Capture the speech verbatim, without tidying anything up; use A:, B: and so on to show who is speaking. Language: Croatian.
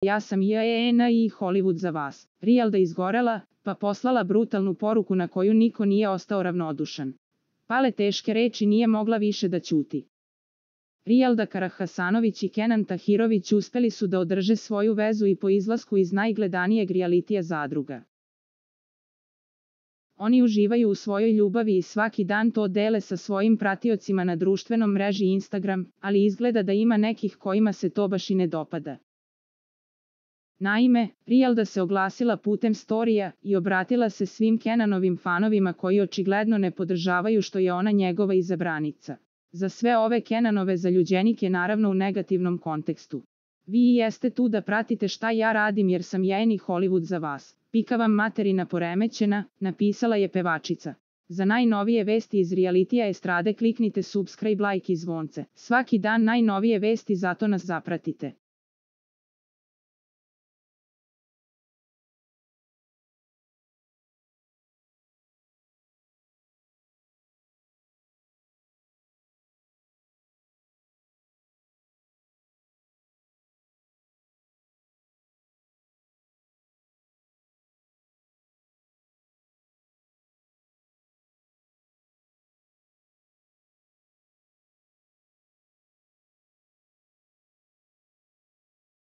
A: Ja sam J N i Hollywood za vas. Rijelda izgorela, pa poslala brutalnu poruku na koju niko nije ostao ravnodušan. Pale teške reči nije mogla više da ćuti. Rijelda Karahasanović i Kenan Tahirović uspeli su da održe svoju vezu i po izlasku iz najgledanijeg realitija Zadruga. Oni uživaju u svojoj ljubavi i svaki dan to dele sa svojim pratiocima na društvenom mreži Instagram, ali izgleda da ima nekih kojima se to baš i ne dopada. Naime, Rijelda se oglasila putem storija i obratila se svim Kenanovim fanovima koji očigledno ne podržavaju što je ona njegova izabranica. Za sve ove Kenanove zaljuđenike naravno u negativnom kontekstu. Vi jeste tu da pratite šta ja radim jer sam J N i Hollywood za vas. Pika vam materina poremećena, napisala je pevačica. Za najnovije vesti iz realitija estrade kliknite subscribe, like i zvonce. Svaki dan najnovije vesti, zato nas zapratite.